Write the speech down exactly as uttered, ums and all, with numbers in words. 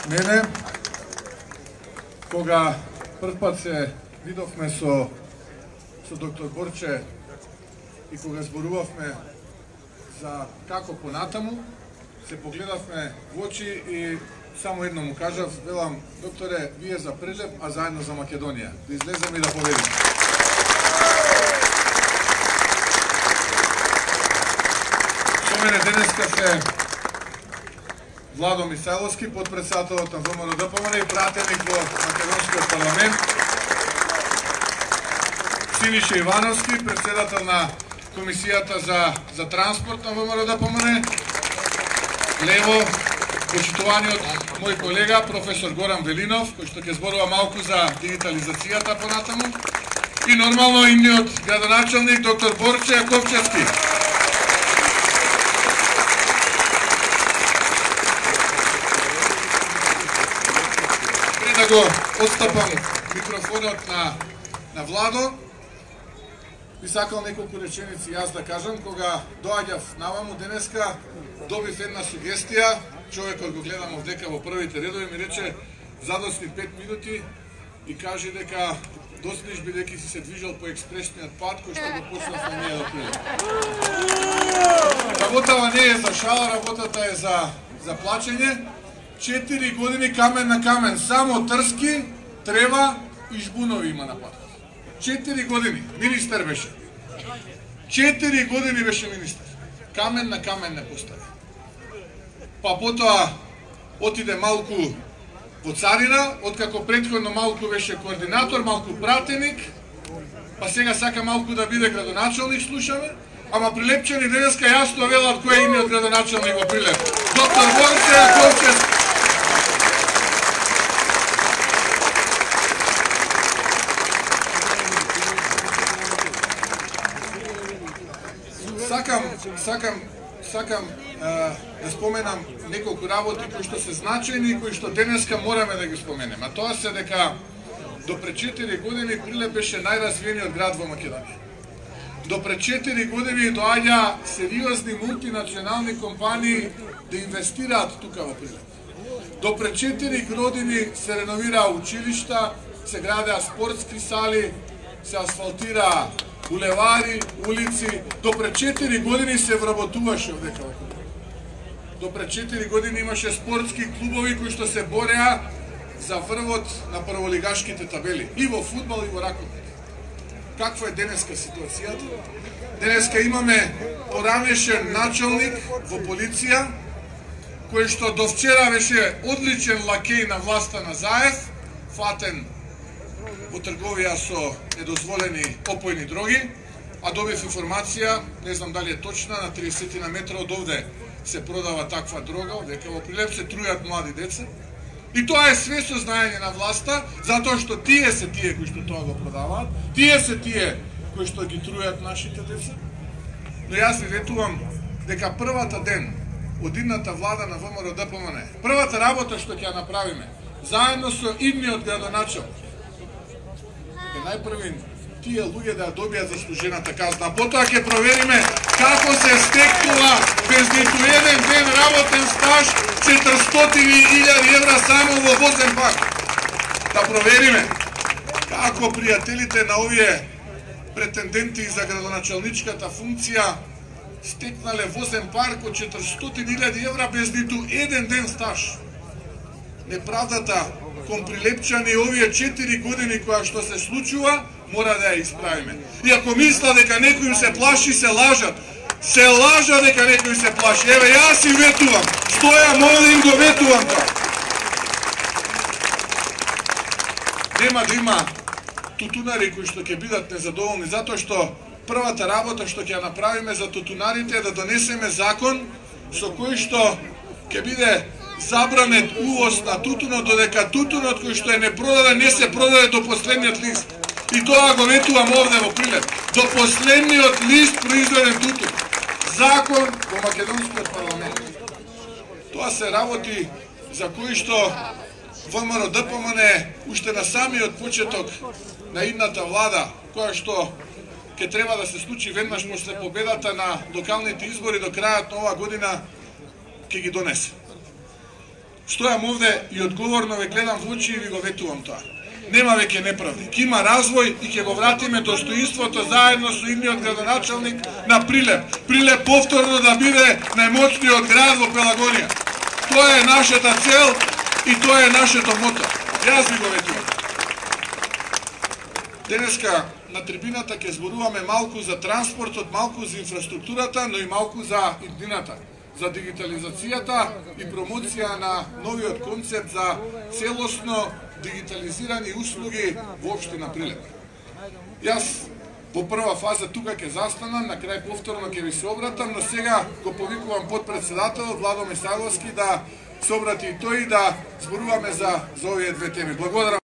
Мене, кога прв пат се видовме со, со доктор Борче и кога зборувавме за како понатаму, се погледавме во очи и само едно му кажав, велам, докторе, вие за Прилеп, а заедно за Македонија. Да излезем и да победим. Со мене денеска се Владо Мисајловски, подпредседателот на ВМРО-ДПМН и пратеник во Македонскиот парламент, Синиша Ивановски, председател на Комисијата за, за транспорт на ВМРО-ДПМН, лево, почитуваниот мој колега, професор Горан Велинов, кој што ќе зборува малку за дигитализацијата понатаму, и нормално имниот градоначалник, доктор Борче Јаковчевски. Да го отстапам микрофонот на, на Владо, би сакал неколку реченици јас да кажам. Кога доаѓав наваму денеска, добив една сугестија, човекот го гледам овдека во првите редови, ми рече задосни пет минути и кажи дека досниш бидејќи си се движел по експресниот пат кој што го почнавме ние до Прилеп. Работава не е за шала, работата е за, за плачење. Четири години камен на камен, само трски, трева и жбунови има на патот. Четири години, министер беше. Четири години беше министер. Камен на камен не постави. Па потоа отиде малку во царина, откако претходно малку беше координатор, малку пратеник, па сега сака малку да биде градоначалник, слушаме, ама прилепчани денеска јасно велат кој е имиот градоначалник во Прилеп. Доктор Борче Јаковчевски. Сакам, сакам, сакам а, да споменам неколку работи кои што се значајни и кои што денеска мораме да ги споменеме. А тоа се дека до пред четири години Прилеп беше најразвиениот град во Македонија. До пред четири години доаѓа сериозни мултинационални компании да инвестираат тука во Прилеп. До пред четири години се реновираа училишта, се градеа спортски сали, се асфалтираа булевари, улици. До пред четири години се вработуваше овдека во Прилеп. До пред четири години имаше спортски клубови кои што се бореа за врвот на прволигашките табели и во фудбал и во ракомет. Каква е денеска ситуацијата? Денеска имаме поранешен началник во полиција кој што до вчера беше одличен лакеј на власта на Заев, фатен во трговија со недозволени опојни дроги, а добив информација, не знам дали е точна, на триесет на метра од овде се продава таква дрога, века во Прилеп се трујат млади деца. И тоа е све со знаење на власта, затоа што тие се тие кои што тоа го продаваат, тие се тие кои што ги трујат нашите деца. Но јас ви ветувам дека првата ден од идната влада на ВМРО-ДПМН, првата работа што ќе ја направиме, заедно со идниот градоначалник, е најпрви тие луѓе да добијат заслужената казна. Потоа ќе провериме како се стекнува без ниту еден ден работен стаж четиристотини илјади евра само во возен парк. Да провериме како пријателите на овие претенденти за градоначалничката функција стекнале возен парк од четиристотини илјади евра без ниту еден ден стаж. Неправдата кон прилепчани овие четири години која што се случува, мора да ја исправиме. И ако мисла дека некој им се плаши, се лажат. Се лажа дека некој се плаши. Еве, јас им ветувам. Стоја, молим го ветувам тоа. Нема да има тутунари кои што ќе бидат незадоволни, затоа што првата работа што ќе ја направиме за тутунарите е да донесеме закон со кој што ќе биде забранет увоз на тутунот, додека тутунот кој што е непродаден не се продаде до последниот лист. И тоа го ветувам овде во Прилеп. До последниот лист произведен тутун. Закон во Македонскиот парламент. Тоа се работи за кои што ВМРО-ДПМН уште на самиот почеток на идната влада, која што ќе треба да се случи веднаш после победата на локалните избори до крајот на оваа година, ќе ги донесе. стојам овде и одговорно ве гледам во очи и ви го ветувам тоа. Нема веќе неправди. Ке има развој и ќе го вратиме достоинството заедно со идниот градоначалник на Прилеп. Прилеп повторно да биде најмоцниот град во Пелагонија. Тоа е нашата цел и тоа е нашето мото. Јас ви го ветувам. Денеска на трибината ќе зборуваме малку за транспортот, малку за инфраструктурата, но и малку за иднината, за дигитализацијата и промоција на новиот концепт за целосно дигитализирани услуги воопшто на Прилеп. Јас во прва фаза тука ќе застанам, на крај повторно ќе ви се обратам, но сега го повикувам подпредседателот Владо Мисајловски да се обрати и тој да зборуваме за, за овие две теми. Благодарам.